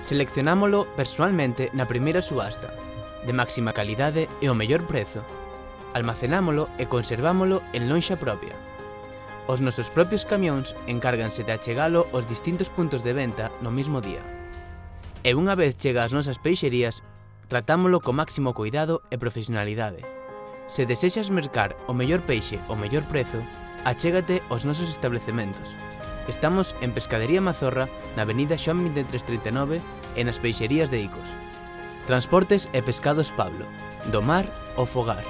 Seleccionámolo persoalmente na primeira subasta, de máxima calidade e o mellor prezo. Almacenámolo e conservámolo en lonxa propia. Os nosos propios camións encárganse de achegalo aos distintos puntos de venta no mesmo día. E unha vez chega ás nosas peixerías, tratámolo co máximo cuidado e profesionalidade. Se desexas mercar o mellor peixe ao mellor prezo, achégate aos nosos establecementos. Estamos en Pescadería Mazorra, na avenida Xoán 2339 e nas peixerías de Icos. Transportes e Pescados Pablo, do mar ao fogar.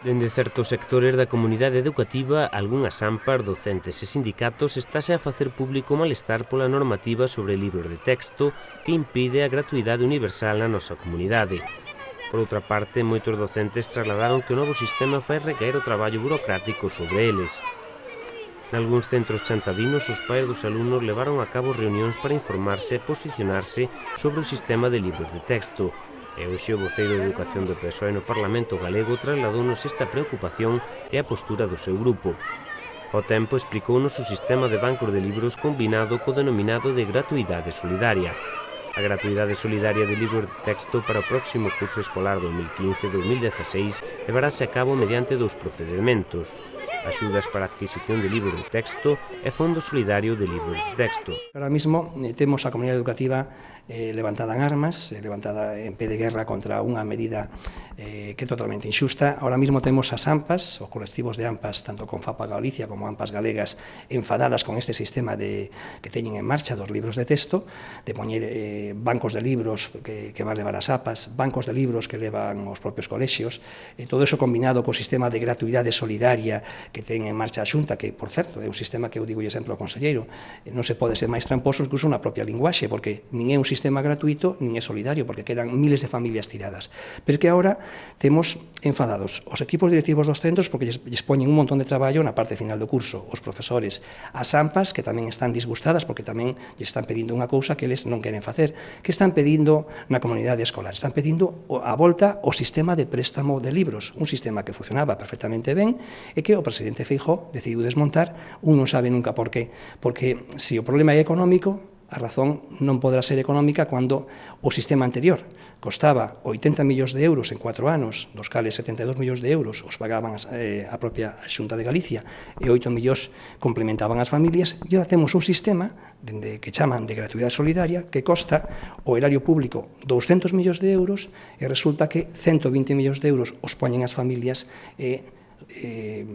Dende certos sectores da comunidade educativa, algunhas AMPAs, docentes e sindicatos estáse a facer público o malestar pola normativa sobre libros de texto que impide a gratuidade universal na nosa comunidade. Por outra parte, moitos docentes trasladaron que o novo sistema fai recaer o traballo burocrático sobre eles. Nalgúns centros chantadinos, os pais dos alumnos levaron a cabo reunións para informarse e posicionarse sobre o sistema de libros de texto. E hoxe o voceiro de Educación do PSOE no Parlamento galego trasladounos esta preocupación e a postura do seu grupo. Ao tempo explicounos o sistema de bancos de libros combinado co denominado de gratuidade solidaria. A gratuidade solidaria de libros de texto para o próximo curso escolar 2015-2016 levarase a cabo mediante dous procedimentos: axudas para a adquisición de libros de texto e Fondo Solidario de Libros de Texto. Ahora mismo temos a comunidade educativa levantada en armas, levantada en pé de guerra contra unha medida que é totalmente injusta. Ahora mismo temos as AMPAs, os colectivos de AMPAs, tanto con FAPA Galicia como AMPAs galegas, enfadadas con este sistema que teñen en marcha dos libros de texto, de poñer bancos de libros que van levar as APAs, bancos de libros que levan os propios colexios, todo eso combinado co sistema de gratuidade solidaria que ten en marcha a Xunta, que, por certo, é un sistema que eu digo exemplo ao conselleiro, non se pode ser máis tramposos que usa unha propia linguaxe, porque nin é un sistema gratuito, nin é solidario, porque quedan miles de familias tiradas. Pero que agora temos enfadados os equipos directivos dos centros porque lles poñen un montón de traballo na parte final do curso, os profesores, as AMPAs, que tamén están disgustadas porque tamén lles están pedindo unha cousa que eles non queren facer, que están pedindo na comunidade escolar, están pedindo a volta ao sistema de préstamo de libros, un sistema que funcionaba perfectamente ben e que o presidente Feijóo decidiu desmontar. Un non sabe nunca por qué, porque se o problema é económico, a razón non podrá ser económica cando o sistema anterior costaba 80 millóns de euros en 4 anos, dos cales 72 millóns de euros os pagaban a propia Xunta de Galicia e 8 millóns complementaban as familias, e agora temos un sistema que chaman de gratuidade solidaria que costa o erario público 200 millóns de euros e resulta que 120 millóns de euros os poñen as familias e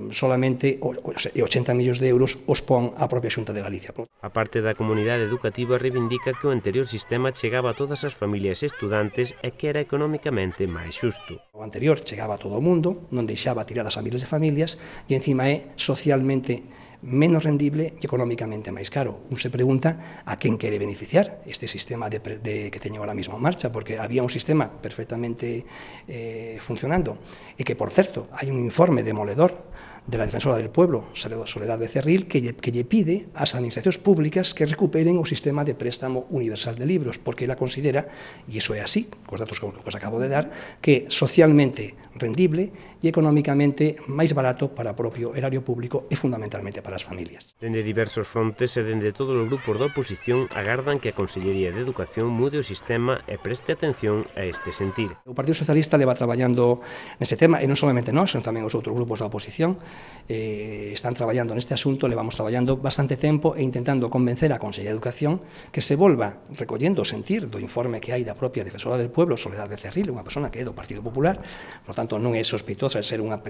solamente 80 millóns de euros os pon a propia Xunta de Galicia. A parte da comunidade educativa reivindica que o anterior sistema chegaba a todas as familias e estudantes e que era economicamente máis xusto. O anterior chegaba a todo o mundo, non deixaba tiradas a miles de familias e encima é socialmente menos rendible e económicamente máis caro. Un se pregunta a quen quere beneficiar este sistema que teñen ahora mismo en marcha, porque había un sistema perfectamente funcionando e que, por certo, hai un informe demoledor de la Defensora del Pueblo, Soledad Becerril, que lle pide ás administracións públicas que recuperen o sistema de préstamo universal de libros, porque ela considera, e iso é así, cos datos que os acabo de dar, que socialmente rendible e económicamente máis barato para o propio erario público e fundamentalmente para as familias. Dende diversos frontes e dende todos os grupos da oposición agardan que a Consellería de Educación mude o sistema e preste atención a este sentir. O Partido Socialista leva traballando nese tema, e non solamente nós, senón tamén os outros grupos da oposición, están traballando neste asunto, levamos traballando bastante tempo e intentando convencer a Consellería de Educación que se volva recollendo o sentir do informe que hai da propia Defensora del Pueblo, Soledad Becerril, unha persona que é do Partido Popular, por tanto non é sospeitosa de ser unha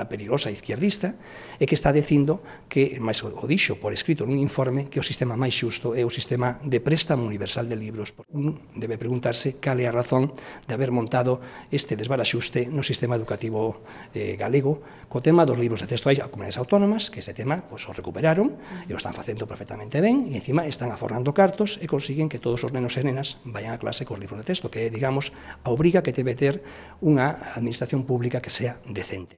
perigosa izquierdista, e que está dicindo que, máis o dixo por escrito nun informe, que o sistema máis xusto é o sistema de préstamo universal de libros. Un debe preguntarse cal é a razón de haber montado este desbaraxuste no sistema educativo galego co tema dos libros de texto. Hai comunidades autónomas que ese tema o recuperaron e o están facendo perfectamente ben e encima están aforrando cartos e consiguen que todos os nenos e nenas vayan a clase cos libros de texto, que é, digamos, a obriga que debe ter unha administración pública que sea decente.